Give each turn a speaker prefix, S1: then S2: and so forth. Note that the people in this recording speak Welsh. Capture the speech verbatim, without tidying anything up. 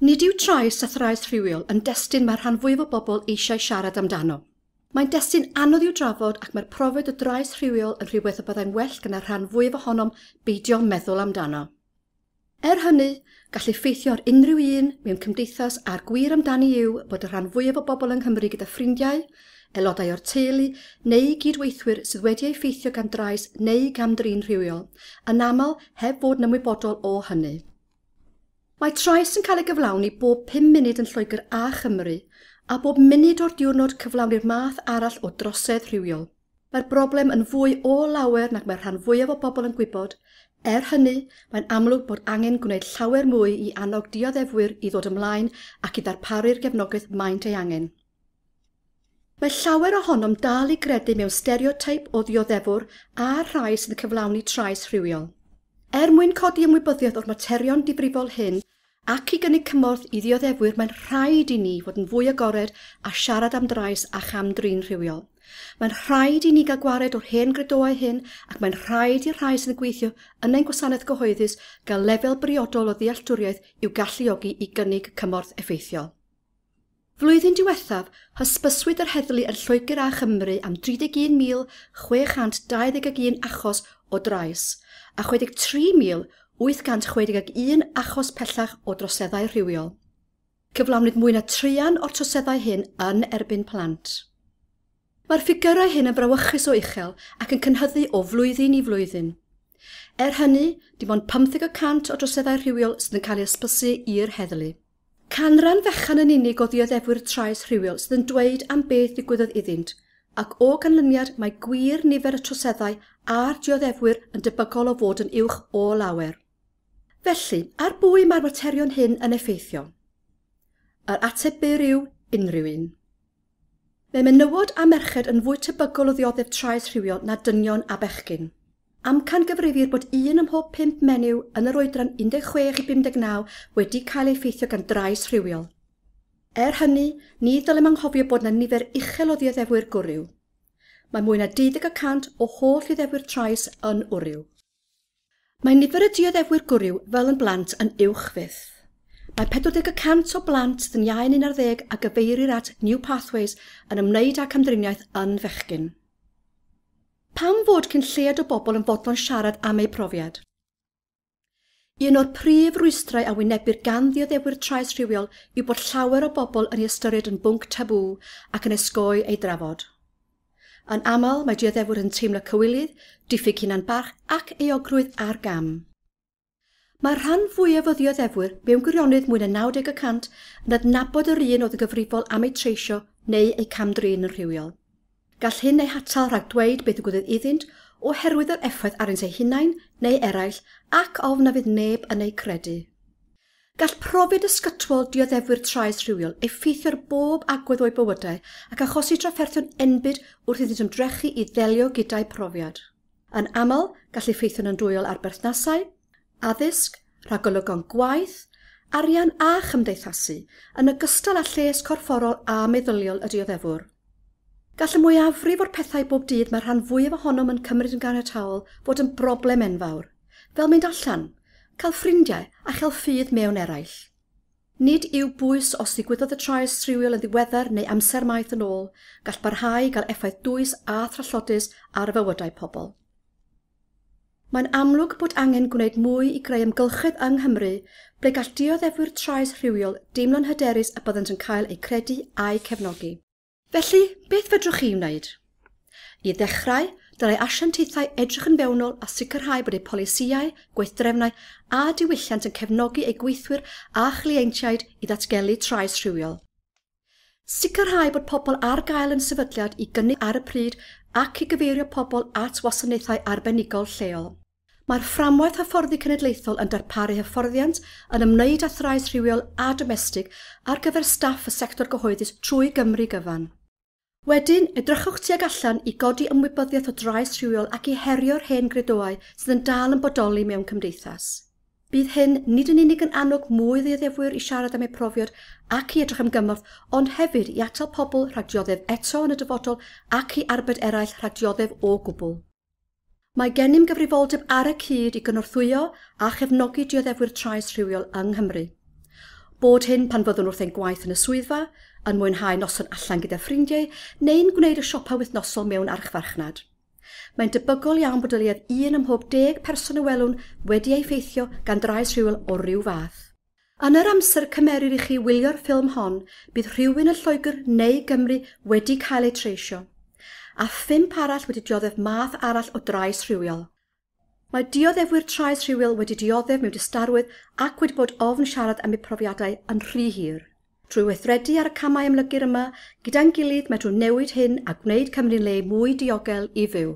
S1: Nid yw trais a thrais rhywiol yn destun mae'r rhan fwyaf o bobl eisiau siarad amdano. Mae'n destun anodd i'w drafod ac mae'r profiad o drais rhywiol yn rhywbeth y byddai'n well gan y rhan fwyaf ohonom beidio meddwl amdano. Er hynny, gall effeithio ar unrhyw un mewn cymdeithas a'r gwir amdani yw bod y rhan fwyaf o bobl yng Nghymru gyda ffrindiau, aelodau o'r teulu neu gydweithwyr sydd wedi effeithio gan drais neu gam-drin rhywiol, yn aml heb fod yn ymwybodol o hynny. Mae trais yn cael ei gyflawni bob pum munud yn Lloegr a Chymru, a bob munud o'r diwrnod cyflawni'r math arall o drosedd rhywiol. Mae'r broblem yn fwy o lawer nag mae'r rhan fwyaf o bobl yn gwybod. Er hynny, mae'n amlwg bod angen gwneud llawer mwy i annog dioddefwyr i ddod ymlaen ac i ddarparu'r gefnogaeth maent ei angen. Mae llawer ohonom dal i gredu mewn stereoteip o ddioddefwr a'r rhai sydd yn cyflawni trais rhywiol. Er mwyn codi ymwybyddiaeth o'r materion difrifol hyn ac i gynnig cymorth i ddioddefwyr, mae'n rhaid i ni fod yn fwy agored a siarad am drais a cham-drin rhywiol. Mae'n rhaid i ni gael gwared o'r hen gredoau hyn ac mae'n rhaid i'r rhai sydd yn gweithio yn ein gwasanaeth gyhoeddus gael lefel briodol o ddealltwriaeth i'w galluogi i gynnig cymorth effeithiol. Flwyddyn diwethaf, hysbyswyd yr heddlu yn Lloegr a Chymru am dri deg un mil chwe chant dau ddeg un achos o drais a chwe deg tri mil wyth cant chwe deg un achos pellach o droseddau rhywiol. Cyflawnwyd mwy na traean o'r troseddau hyn yn erbyn plant. Mae'r ffigyrau hyn yn frawychus o uchel ac yn cynyddu o flwyddyn i flwyddyn. Er hynny, dim ond pymtheg y cant o droseddau rhywiol sydd yn cael eu hysbysu i'r heddlu. Canran fechan yn unig o ddioddefwyr trais rhywiol sydd yn dweud am beth ddigwyddodd iddynt, ac o ganlyniad mae gwir nifer y troseddau a'r dioddefwyr yn debygol o fod yn uwch o lawer. Felly, ar bwy mae'r materion hyn yn effeithio? Yr ateb byr yw unrhyw un. Mae menywod a merched yn fwy tebygol o ddioddef trais rhywiol na dynion a bechgyn. Amcangyfrifir bod un ym mhob pump menyw yn yr oedran un deg chwech i bum deg naw wedi cael ei effeithio gan drais rhywiol. Er hynny, ni ddylem anghofio bod yna nifer uchel o ddioddefwyr gwryw. Mae mwy na deuddeg y cant o holl ddioddefwyr trais yn wryw. Mae nifer y dioddefwyr gwryw fel yn blant yn uwch fyth. Mae pedwar deg y cant o blant sydd yn iau un ar ddeg a gyfeirir at New Pathways yn ymwneud â camdriniaeth yn fechgyn. Pam fod cyn lleied o bobl yn fodlon siarad am eu profiad? Un o'r prif rwystrau a wynebir gan ddioddefwyr trais rhywiol yw bod llawer o bobl yn ei ystyried yn bwnc tabŵ ac yn osgoi ei drafod. Yn aml, mae dioddefwyr yn teimlo cywilydd, diffyg hunan-barch ac euogrwydd ar gam. Mae'r rhan fwyaf o ddioddefwyr mewn gwirionedd mwy na naw deg y cant yn adnabod yr un oedd yn gyfrifol am eu treisio neu eu cam-drin yn rhywiol. Gall hyn eu hatal rhag dweud beth ddigwyddodd iddynt oherwydd yr effaith arnynt eu hunain neu eraill ac ofn na fydd neb yn eu credu. Gall profiad ysgytwol dioddefwyr trais rhywiol effeithio ar bob agwedd o'u bywydau ac achosi trafferthion enbyd wrth iddynt ymdrechu i ddelio gyda'u profiad. Yn aml, gall effeithio'n andwyol ar berthnasau, addysg, rhagolygon gwaith, arian a chymdeithasu, yn ogystal â lles corfforol a meddyliol y dioddefwr. Gall y mwyafrif o'r pethau bob dydd mae'r rhan fwyaf ohonom yn cymryd yn ganiataol fod yn broblem enfawr, fel mynd allan, cael ffrindiau a chael ffydd mewn eraill. Nid yw bwys os ddigwyddodd y trais rhywiol yn ddiweddar neu amser maith yn ôl, gall barhau i gael effaith dwys a thrallodus ar fywydau pobl. Mae'n amlwg bod angen gwneud mwy i greu amgylchedd yng Nghymru ble gall dioddefwyr trais rhywiol deimlo'n hyderus y byddant yn cael eu credu a'u cefnogi. Felly, beth fedrwch chi wneud? I ddechrau, dylai asiantaethau edrych yn fewnol a sicrhau bod eu polisïau, gweithdrefnau a diwylliant yn cefnogi eu gweithwyr a chleientiaid i ddatgelu trais rhywiol. Sicrhau bod pobl ar gael yn sefydliad i gynnig ar y pryd ac i gyfeirio pobl at wasanaethau arbenigol lleol. Mae'r fframwaith hyfforddi cenedlaethol yn darparu hyfforddiant yn ymwneud â thrais rhywiol a domestig ar gyfer staff y sector gyhoeddus trwy Gymru gyfan. Wedyn, edrychwch tuag allan i godi ymwybyddiaeth o drais rhywiol ac i herio'r hen gredoau sydd yn dal yn bodoli mewn cymdeithas. Bydd hyn nid yn unig yn annog mwy o ddioddefwyr i siarad am eu profiad ac i edrych am gymorth, ond hefyd i atal pobl rhag dioddef eto yn y dyfodol ac i arbed eraill rhag dioddef o gwbl. Mae gennym gyfrifoldeb ar y cyd i gynorthwyo a chefnogi dioddefwyr trais rhywiol yng Nghymru. Bod hyn pan fyddwn wrth ein gwaith yn y swyddfa, yn mwynhau noson allan gyda ffrindiau, neu'n gwneud y siopa wythnosol mewn archfarchnad. Mae'n debygol iawn bod o leiaf un ym mhob deg person y welwn wedi ei effeithio gan drais rhywiol o ryw fath. Yn yr amser cymerir i chi wylio'r ffilm hon, bydd rhywun yn Lloegr neu Gymru wedi cael eu treisio, a phump arall wedi dioddef math arall o drais rhywiol. Mae dioddefwyr trais rhywiol wedi dioddef mewn distawrwydd ac wedi bod ofn siarad am eu profiadau yn rhy hir. Trwy weithredu ar y camau amlygir yma, gyda'n gilydd medrwn newid hyn a gwneud Cymru'n le mwy diogel i fyw.